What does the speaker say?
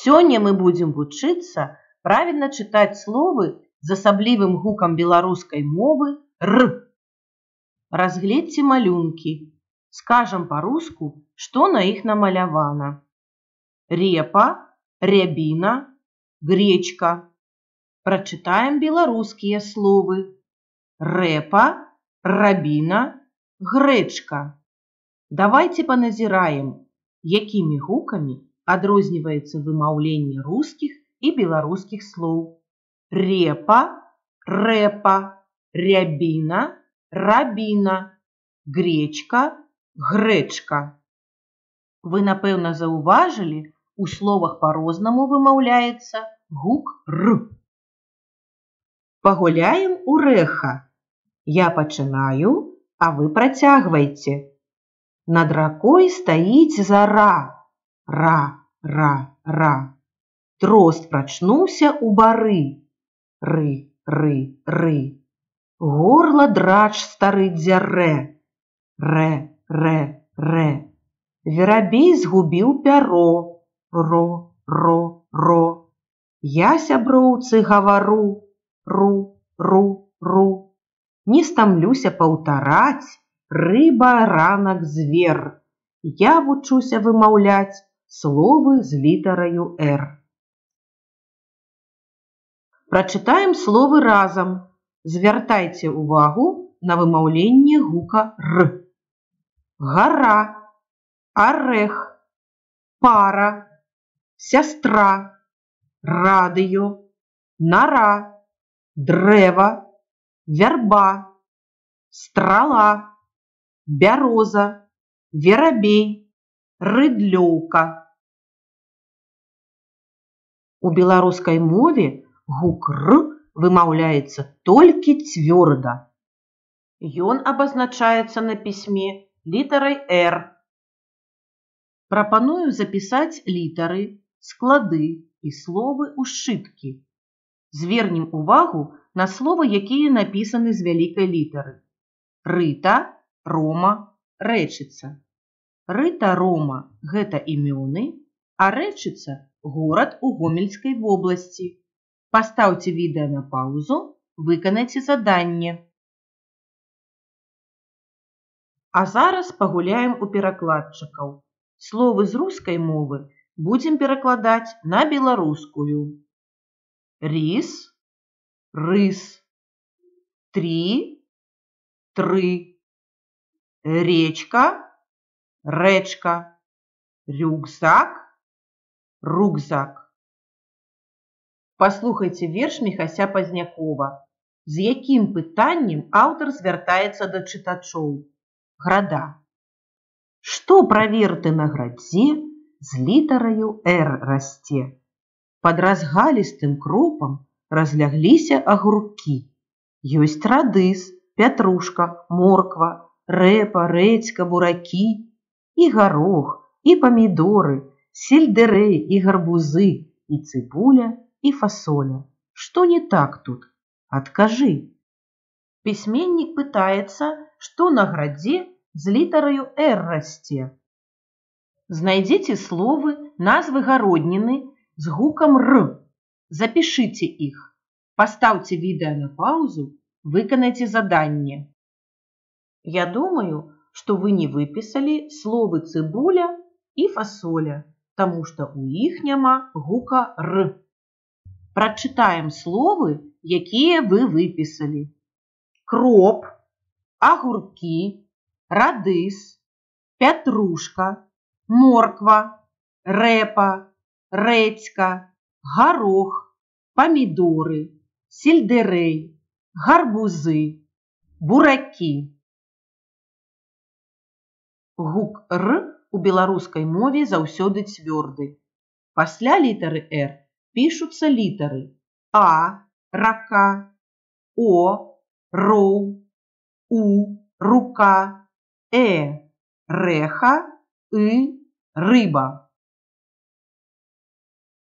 Сёння мы будзем вучыцца правільна чытаць словы з асаблівым гукам беларускай мовы «р». Разгледзьце малюнкі. Скажам па-руску, што на іх намалявана. Репа, рябіна, гречка. Прачытаем беларускія словы. Рэпа, рабіна, грэчка. Давайце паназіраем, якімі гукамі адрозніваецца вымаўленне рускіх і беларускіх слоў. Репа, рэпа, рябіна, рабіна, гречка, грэчка. Вы, напэўна, заўважылі, у словах па-рознаму вымаўляецца гук «р». Пагуляем у рэха. Я пачынаю, а вы працягвайце. Над ракой стаіць зара. Ра, ра, ра. Дрозд прачнуўся ў бары. Ры, ры, ры. Горла драч стары дзярэ. Рэ, рэ, рэ. Верабей згубіў пяро. Ро, ро, ро. Я сяброўцы гавару. Ру, ру, ру. Не стамлюся паўтараць. Рыба, ранак, звер. Я вучуся вымаўляць словы з літараю «р». Прачытаем словы разам. Звяртайце ўвагу на вымаўленне гука «р». Гара, арэх, пара, сястра, радыё, нара, дрэва, вярба, страла, бяроза, верабей, рыдлёўка. У беларускай мове гук «р» вымаўляецца толькі цвёрда. Ён абазначаецца на пісьме літарай «р». Прапаную запісаць літары, склады і словы ў сшыткі. Звернем увагу на словы, якія напісаны з вялікай літары. Рыта, рома, рэчыца. Рыта, рома – гэта імёны, а рэчыца – горад у Гомельскай вобласці. Пастаўце відэа на паўзу, выканайце заданне. А зараз пагуляем у перакладчыкаў. Словы з рускай мовы будзем перакладаць на беларускую. Рис, рыс. Три, тры. Речка, рэчка. Рюкзак, рюкзак. Паслухайце верш Міхася Пазнякова. З якім пытаннем аўтар звяртаецца да чытачоў? Града. Што праверты на градзе з літараю «р» расце? Пад разгалістым кропам разлягліся агуркі. Ёсць радыс, пятрушка, морква, рэпа, рэдзька, буракі, і гарох, і памідоры, сельдэрэй і гарбузы, і цыбуля, і фасоля. Што не так тут? Адкажы. Пісьменнік пытаецца, што на градзе з літараю «р» расце. Знайдзіце словы, назвы гародніны з гукам «р». Запішыце іх. Пастаўце відэа на паўзу, выканайце заданне. Я думаю, што вы не выпісалі словы цыбуля і фасоля, таму што ў іх няма гука «р». Прачытаем словы, якія вы выпісалі. Кроп, агуркі, радыс, пятрушка, морква, рэпа, рэдзька, гарох, памідоры, сельдэрэй, гарбузы, буракі. Гук «р» у беларускай мове заўсёды цвёрды. Пасля літары «р» пішуцца літары «а» – рака, «о» – роў, «у» – рука, «э» – рэха, «ы» – рыба.